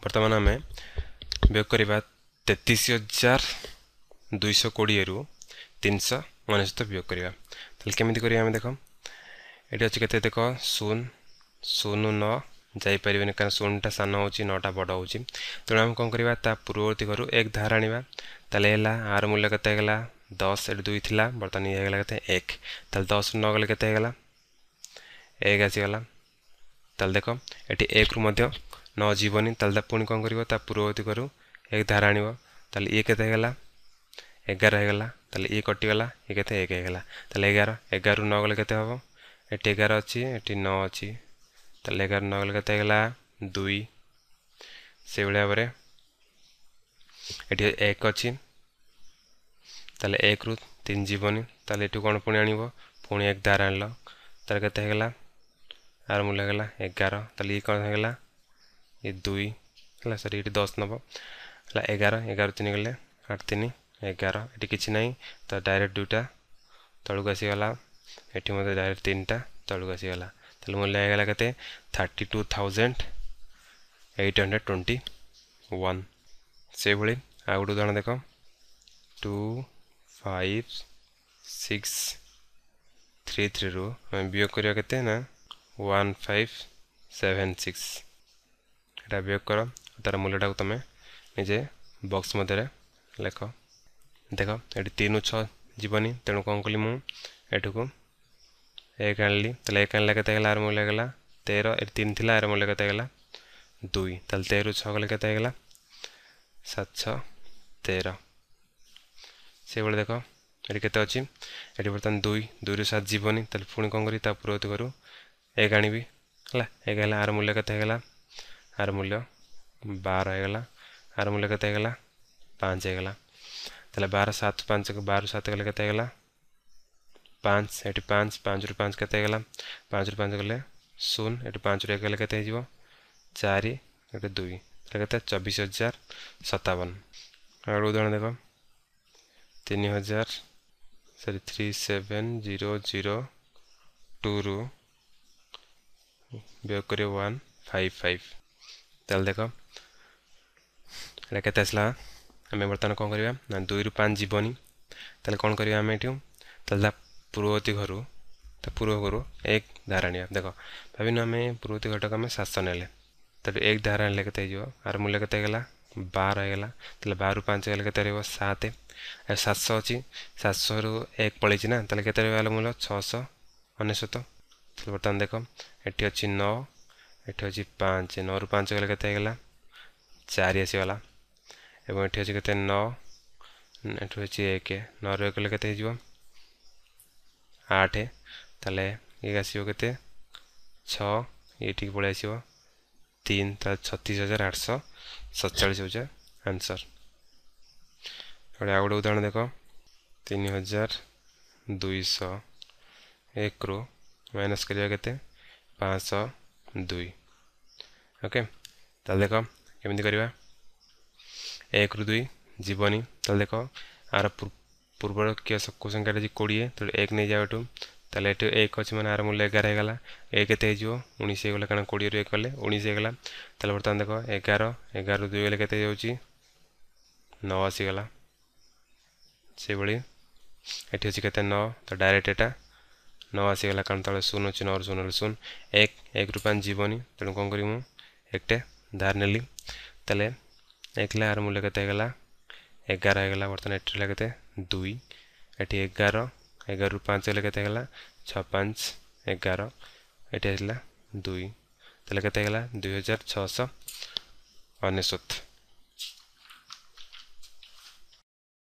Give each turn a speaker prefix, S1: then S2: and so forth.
S1: ବର୍ତ୍ତମାନ ଆମେ ବିୟୋଗ କରିବା 33,220ରୁ 399 ବିୟୋଗ କରିବା। ତାହେଲେ କେମିତି କରିବା ଆମେ ଦେଖ, ଏଠି ଅଛି କେତେ ଦେଖ 0 0 9 ଯାଇପାରିବେନି, କାରଣ 0ଟା ସାନ ହେଉଛି 9ଟା ବଡ଼ ହେଉଛି। ତେଣୁ ଆମେ କ'ଣ କରିବା, ତା ପୂର୍ବବର୍ତ୍ତୀ ଘରୁ 1 ଧାର ଆଣିବା। ତାହେଲେ ହେଲା ଆର ମୂଲ୍ୟ କେତେ ହେଇଗଲା 10, ଏଠି 2 ଥିଲା, ବର୍ତ୍ତମାନ ଇଏ ହେଇଗଲା କେତେ 1। ତାହେଲେ 10 9 ଗଲେ କେତେ ହେଇଗଲା 1 ଆସିଗଲା। ତାହେଲେ ଦେଖ ଏଠି 1ରୁ ମଧ୍ୟ 9 ଯିବନି, ତାହେଲେ ପୁଣି କ'ଣ କରିବ, ତା ପୂର୍ବବର୍ତ୍ତୀ ଘରୁ 1 ଧାର ଆଣିବ। ତାହେଲେ ଇଏ କେତେ ହେଇଗଲା 11 ହେଇଗଲା, ତାହେଲେ ଇଏ କଟିଗଲା, ଇଏ କେତେ 1 ହେଇଗଲା। ତାହେଲେ 11 11ରୁ 9 ଗଲେ କେତେ ହେବ, ଏଠି 11 ଅଛି ଏଠି 9 ଅଛି, ତାହେଲେ 11 9 ଗଲେ କେତେ ହେଇଗଲା 2। ସେଇଭଳି ଭାବରେ ଏଠି 1 ଅଛି, ତାହେଲେ 1ରୁ 3 ଯିବନି, ତାହେଲେ ଏଠୁ କ'ଣ ପୁଣି ଆଣିବ, ପୁଣି 1 ଧାର ଆଣିଲ, ତାହେଲେ କେତେ ହେଇଗଲା ଆର ମୂଲ୍ୟ ହେଇଗଲା 11। ତାହେଲେ ଇଏ କ'ଣ ହେଇଗଲା ଇଏ 2 ହେଲା, ସରି ଏଠି 10 ନେବ, ହେଲା 11 11 3 ଗଲେ 8 3 11, ଏଠି କିଛି ନାହିଁ ତ ଡାଇରେକ୍ଟ 2ଟା ତଳକୁ ଆସିଗଲା, ଏଠି ମଧ୍ୟ ଡାଇରେକ୍ଟ 3ଟା ତଳକୁ ଆସିଗଲା। ତାହେଲେ ମୂଲ୍ୟ ହେଇଗଲା କେତେ 32,821। ସେଇଭଳି ଆଉ ଗୋଟେ ଉଦାହରଣ ଦେଖ, 2 5 6 3 3ରୁ ଆମେ ବିୟୋଗ କରିବା କେତେ ନା 1 5 7 6, ଏଟା ବିୟୋଗ କର, ତାର ମୂଲ୍ୟଟାକୁ ତୁମେ ନିଜେ ବକ୍ସ ମଧ୍ୟରେ ଲେଖ। ଦେଖ ଏଠି 3 6 ଯିବନି, ତେଣୁ କ'ଣ କଲି ମୁଁ ଏଠୁକୁ 1 ଆଣିଲି। ତାହେଲେ 1 ଆଣିଲେ କେତେ ହେଇଗଲା ଆର ମୂଲ୍ୟ ହେଇଗଲା 13, ଏଠି 3 ଥିଲା ଆର ମୂଲ୍ୟ କେତେ ହେଇଗଲା 2। ତାହେଲେ 13 6 ଗଲେ କେତେ ହେଇଗଲା 7 6 13। ସେଇଭଳି ଦେଖ ଏଠି କେତେ ଅଛି, ଏଠି ବର୍ତ୍ତମାନ 2 2ରୁ 7 ଯିବନି, ତାହେଲେ ପୁଣି କ'ଣ କରିବି, ତା ପୂର୍ବବର୍ତ୍ତୀ ଘରୁ 1 ଆଣିବି। ହେଲା 1 ହେଲା ଆର ମୂଲ୍ୟ କେତେ ହେଇଗଲା, ଆର ମୂଲ୍ୟ 12 ହେଇଗଲା, ଆର ମୂଲ୍ୟ କେତେ ହେଇଗଲା 5 ହେଇଗଲା। ତାହେଲେ 12 7 5 12 7 ଗଲେ କେତେ ହେଇଗଲା 5, ଏଠି 5 5ରୁ 5 କେତେ ହେଇଗଲା 5ରୁ 5 ଗଲେ 0, ଏଠି 5ରୁ 1 ଗଲେ କେତେ ହେଇଯିବ 4, ଏଠି 2, ତାହେଲେ କେତେ 24,057। ଆଉ ଗୋଟେ ଉଦାହରଣ ଦେଖ, 3000 ସରି 37002ରୁ ବିୟୋଗ କରିବ 1 5 5। ତାହେଲେ ଦେଖ ଏଇଟା କେତେ ଆସିଲା, ଆମେ ବର୍ତ୍ତମାନ କ'ଣ କରିବା ନା 2ରୁ 5 ଯିବନି, ତାହେଲେ କ'ଣ କରିବା ଆମେ ଏଠୁ, ତାହେଲେ ତା ପୂର୍ବବର୍ତ୍ତୀ ଘରୁ ତା ପୂର୍ବ ଘରୁ 1 ଧାର ଆଣିବା। ଦେଖ ଭାବିନୁ ଆମେ ପୂର୍ବବର୍ତ୍ତୀ ଘରଟାକୁ ଆମେ 700 ନେଲେ, ତାହେଲେ 1 ଧାର ଆଣିଲେ କେତେ ହେଇଯିବ, ଆର ମୂଲ୍ୟ କେତେ ହେଇଗଲା 12 ହେଇଗଲା। ତାହେଲେ 12ରୁ 5 ଗଲେ କେତେ ରହିବ 7, ଆଉ 700 ଅଛି 700ରୁ 1 ପଳେଇଛି ନା, ତାହେଲେ କେତେ ରହିବ ମୂଲ୍ୟ 699। ତାହେଲେ ବର୍ତ୍ତମାନ ଦେଖ ଏଠି ଅଛି 9 ଏଠି ଅଛି 5, 9ରୁ 5 ଗଲେ କେତେ ହେଇଗଲା 4 ଆସିଗଲା, ଏବଂ ଏଠି ଅଛି କେତେ 9, ଏଠି ଅଛି 1, 9ରୁ 1 ଗଲେ କେତେ ହେଇଯିବ 8, ତାହେଲେ ଇଏ ଆସିବ କେତେ 6, ଏଇଠିକି ପଳେଇ ଆସିବ 3, ତାହେଲେ 36,847 ହେଉଛି ଆନ୍ସର୍। ଆଉ ଗୋଟେ ଉଦାହରଣ ଦେଖ, 3,201ରୁ ମାଇନସ୍ କରିବା କେତେ 502। ଓକେ ତାହେଲେ ଦେଖ କେମିତି କରିବା, 1ରୁ 2 ଯିବନି, ତାହେଲେ ଦେଖ ଆର ପୂର୍ବର କେଉଁ ସଂଖ୍ୟାଟା ଅଛି 20, ତେଣୁ 1 ନେଇଯାଅ ଏଠୁ, ତାହେଲେ ଏଠି 1 ଅଛି ମାନେ ଆର ମୂଲ୍ୟ 11 ହେଇଗଲା, ଏ କେତେ ହେଇଯିବ 19 ହେଇଗଲା, କାରଣ 20ରୁ 1 କଲେ 19 ହେଇଗଲା। ତାହେଲେ ବର୍ତ୍ତମାନ ଦେଖ 11 11ରୁ 2 ଗଲେ କେତେ ହେଇଯାଉଛି 9 ଆସିଗଲା। ସେଇଭଳି ଏଠି ଅଛି କେତେ 9, ତ ଡାଇରେକ୍ଟ ଏଟା 9 ଆସିଗଲା, କାରଣ ତଳେ 0 ଅଛି, 9ରୁ 0 ହେଲେ 0, 1 1ରୁ 5 ଯିବନି, ତେଣୁ କ'ଣ କରିବି ମୁଁ 1ଟେ ଧାର ନେଲି। ତାହେଲେ 1 ହେଲା ଆର ମୂଲ୍ୟ କେତେ ହେଇଗଲା 11 ହେଇଗଲା, ବର୍ତ୍ତମାନ ଏଠି ହେଲା କେତେ 2, ଏଠି 11 11ରୁ 5 ହେଲେ କେତେ ହେଇଗଲା 6 5 11, ଏଠି ଆସିଲା 2, ତାହେଲେ କେତେ ହେଇଗଲା 2699।